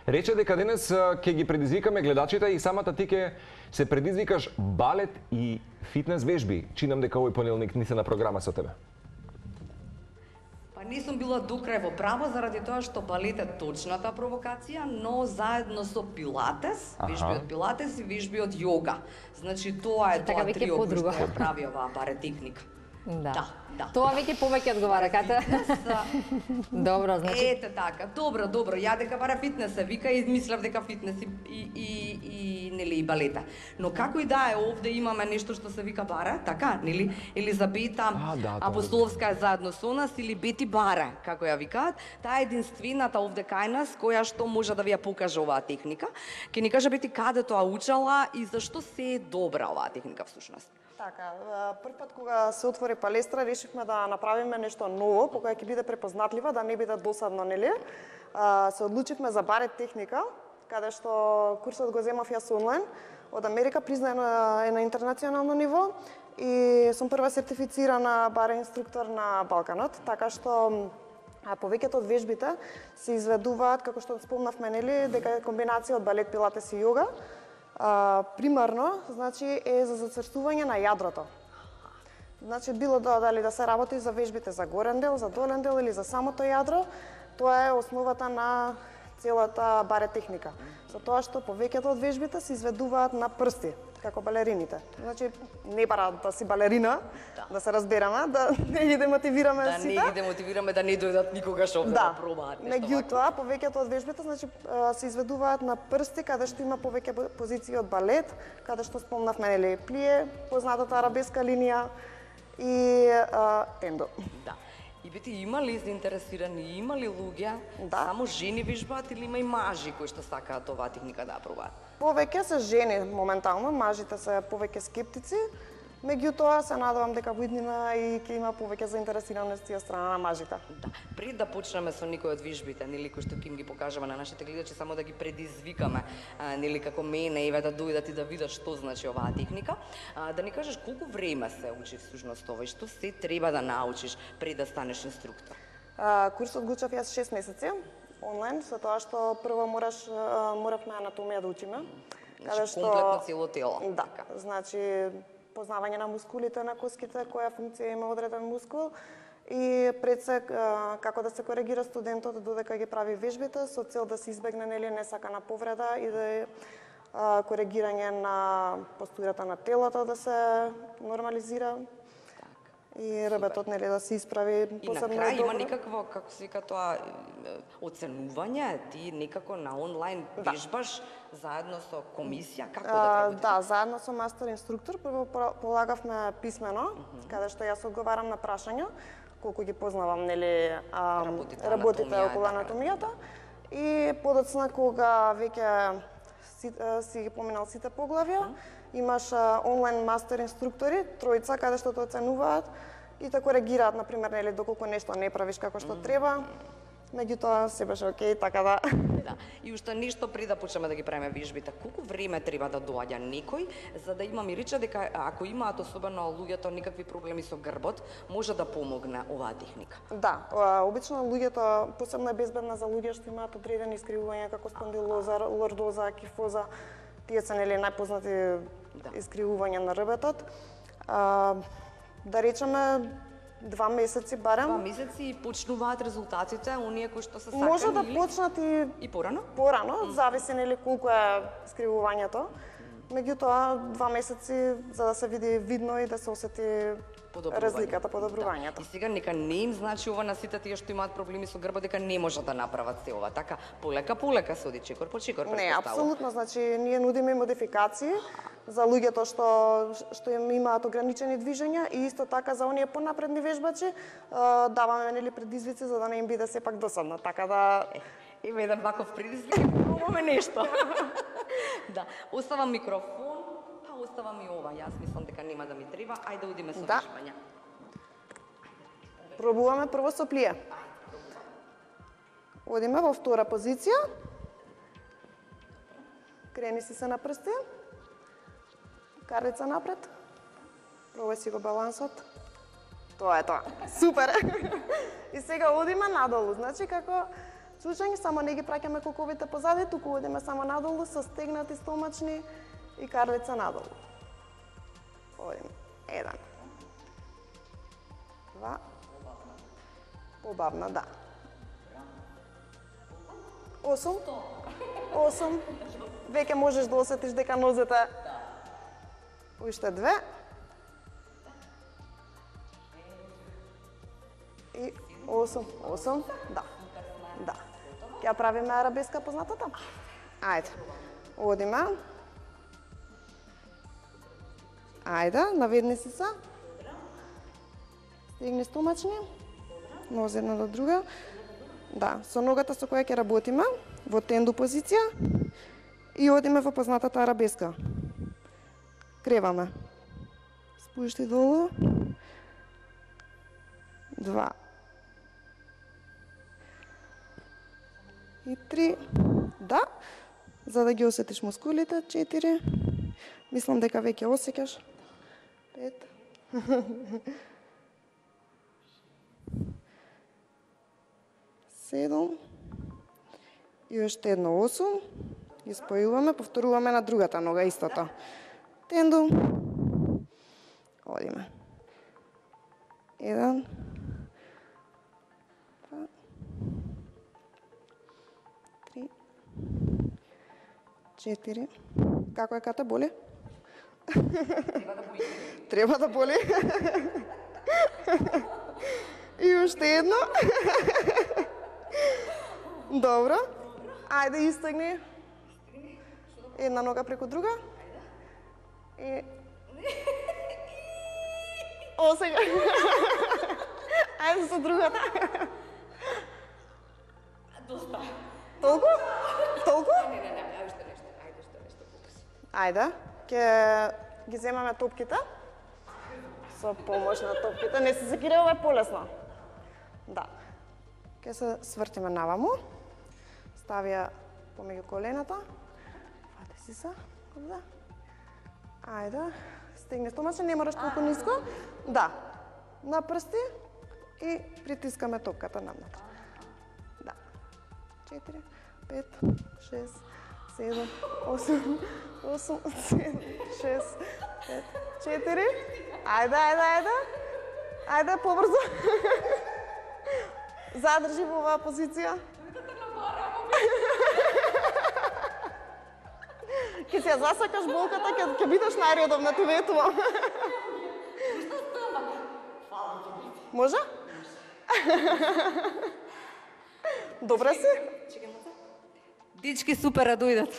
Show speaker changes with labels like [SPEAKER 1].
[SPEAKER 1] Рече дека денес ќе ги предизвикаме гледачите и самата ти ќе се предизвикаш балет и фитнес вежби. Чинам дека овој понеделник ни се на програма со тебе.
[SPEAKER 2] Па не сум била до крај во право заради тоа што балет е точната провокација, но заедно со пилатес, вежби од пилатес и вежби од јога. Значи тоа е тоа трио кој што прави оваа баре техника.
[SPEAKER 3] Да. Тоа веќе повеќе одговара, Ката. Добро, значи.
[SPEAKER 2] Ете така. Добро. Ја дека бара фитнес се вика и мислев дека фитнес и нели и балета. Но како и да е, овде имаме нешто што се вика бара, така, нели? Елизабета Апостоловска е заедно со нас или Бети Бара, како ја викаат. Таа е единствената овде кај нас која што може да ви ја покаже оваа техника. Ќе ни каже Бети каде тоа учела и зашто се е добра оваа техника всушност.
[SPEAKER 4] Така, прв пат кога се отвори палестра, решивме да направиме нешто ново, по кое ќе биде препознатлива, да не биде досадно, нели? Се одлучивме за барет техника, каде што курсот го земав јас онлайн, од Америка, признаен е на интернационално ниво и сум прва сертифицирана баре инструктор на Балканот, така што повеќето од вежбите се изведуваат, како што спомнавме, нели, дека е комбинација од балет, пилатес и јога. Примарно, значи, е за зацрстување на јадрото. Значи, било дали да се работи за вежбите за горен дел, за долен дел или за самото јадро, тоа е основата на целата баре техника. За тоа што повеќето од вежбите се изведуваат на прсти, како балерините. Значи, не бара да си балерина, да се разбереме, да не ги демотивираме сите.
[SPEAKER 2] Да не ги демотивираме да не дојдат никогаш овде да пробаат нешто.
[SPEAKER 4] Меѓутоа, повеќето од вежбите, значи, се изведуваат на прсти, каде што има повеќе позиции од балет, каде што спомнавме, нели, плие, познатата арабеска линија и тендо.
[SPEAKER 2] Да. И Бети, има ли заинтересирани, има ли луѓе, само жени вежбаат или има и мажи кои што сакаат оваа техника да ја пробаат?
[SPEAKER 4] Повеќе се жени моментално, мажите се повеќе скептици, меѓутоа се надевам дека во иднина и ќе има повеќе заинтересираности од страна на мажите.
[SPEAKER 2] Да. Пред да почнеме со некои од вежбите, нели, кои што ќе им ги покажеме на нашите гледачи, само да ги предизвикаме, нели, како мене, еве да дојдат и да видат што значи оваа техника, да ни кажеш колку време се учи всушност ова и што се треба да научиш пред да станеш инструктор?
[SPEAKER 4] Курсот го учев јас 6 месеци онлайн, со тоа што прво моравме анатомија да учиме.
[SPEAKER 2] Значи, комплетно цело тело.
[SPEAKER 4] Да, значи познавање на мускулите на коските, која функција има одреден мускул и пред се како да се коригира студентот додека ги прави вежбите со цел да се избегне, нели, несакана повреда и да е коригирање на постурата на телото да се нормализира. И работот, нели, да се исправи посебно добро.
[SPEAKER 2] И на крај има некакво, како се вика тоа, оценување, ти некако на онлайн вежбаш заедно со комисија, како да работите?
[SPEAKER 4] Да, заедно со мастер инструктор, прво полагавме писмено, каде што јас одговарам на прашања, колку ги познавам, нели, работите околу анатомијата, и подоцна кога веќе си ги поминал сите поглавја, имаш онлайн мастер инструктори, тројца, каде што те оценуваат и те коригираат, например, нели, доколку нешто не правиш како што треба, меѓутоа се беше окей, така да.
[SPEAKER 2] Да. И уште нешто пред да почнеме да ги правиме вежбите, колку време треба да доаѓа некој за да има мирича дека ако имаат особено луѓето некакви проблеми со грбот, може да помогне оваа техника?
[SPEAKER 4] Да, обично луѓето, посебно е безбедна за луѓе што имаат одредени искривувања како спондилоза, лордоза, кифоза, тие се, нели, најпознати искривувања на ребетот. Да речеме 2 месеци барем.
[SPEAKER 2] 2 месеци и почнуваат резултатите, оние кои што се сакани?
[SPEAKER 4] Може да почнат и
[SPEAKER 2] порано?
[SPEAKER 4] Порано, зависи, нели, колку е скривувањето. Меѓутоа 2 месеци за да се види видно и да се осети разликата, подобрувањето.
[SPEAKER 2] И сега нека не им значи ова на сите тие што имаат проблеми со грбот дека не можат да направат се ова, така полека се оди чекор по чекор.
[SPEAKER 4] Не, апсолутно, значи ние нудиме модификации за луѓето што им имаат ограничени движења и исто така за оние понапредни вежбачи даваме, нели, предизвици за да не им биде сепак досадно, така да
[SPEAKER 2] еве еден ваков предизвик и пробуваме нешто. Да, оставам микрофон. Оставам и ова, јас мислам дека нема да ми треба, ајде одиме со вежбање.
[SPEAKER 4] Пробуваме прво со плие. Одиме во втора позиција. Крени си се на прсти. Карлица напред. Пробај си го балансот. Тоа е тоа. Супер! И сега одиме надолу, значи како случања, само не ги праќаме коковите позади, туку одиме само надолу со стегнати стомачни и карлица надолу. Одиме. 1. 2. Побавна, да. 8. 8. Веќе можеш да осетиш дека нозете... Уште 2. И 8. 8. Да. Да. Ќе ја правиме арабеска познатата? Ајде. Одиме. Ајде, наведни си се. Стегни стомачни. Нозе една до друга. Да, со ногата со која ќе работиме, во тенду позиција и одиме во познатата арабеска. Креваме. Спушти долу. 2. И 3. Да, за да ги осетиш мускулите. 4. Мислам дека веќе осеќаш. 5. 7. И уште едно 8. Ги спојуваме, повторуваме на другата нога истото. Тенду. Одиме. 1. 2. 3. 4. Како е, Ката, боли? Треба да боли. И уште едно. Добро. Ајде, истегни. Една нога преку друга. И... О, сега. Ајде со другата.
[SPEAKER 2] Доста.
[SPEAKER 4] Толку? Толку?
[SPEAKER 2] Не, ајде што нешто. Ајде што нешто покажи.
[SPEAKER 4] Ајде, ќе ги земаме топките. Со помош на топките. Не се секира, ова е полесно. Да. Ќе се свртиме наваму. Стави ја помеѓу колената. Фати си се. Да. Ајде. Стегни стомачен, не мораш толку ниско. Да. На прсти и притискаме топката наднатре. Да. 4, 5, 6, 7, 8, 8, 7, 6, 5, 4. Ајде. Ајде, побрзо. Задржи во оваа позиција. Ке се ја засакаш болката, ќе бидеш најредовна, ти ветувам. Може? Добра си?
[SPEAKER 2] Дечки супер да дојдат.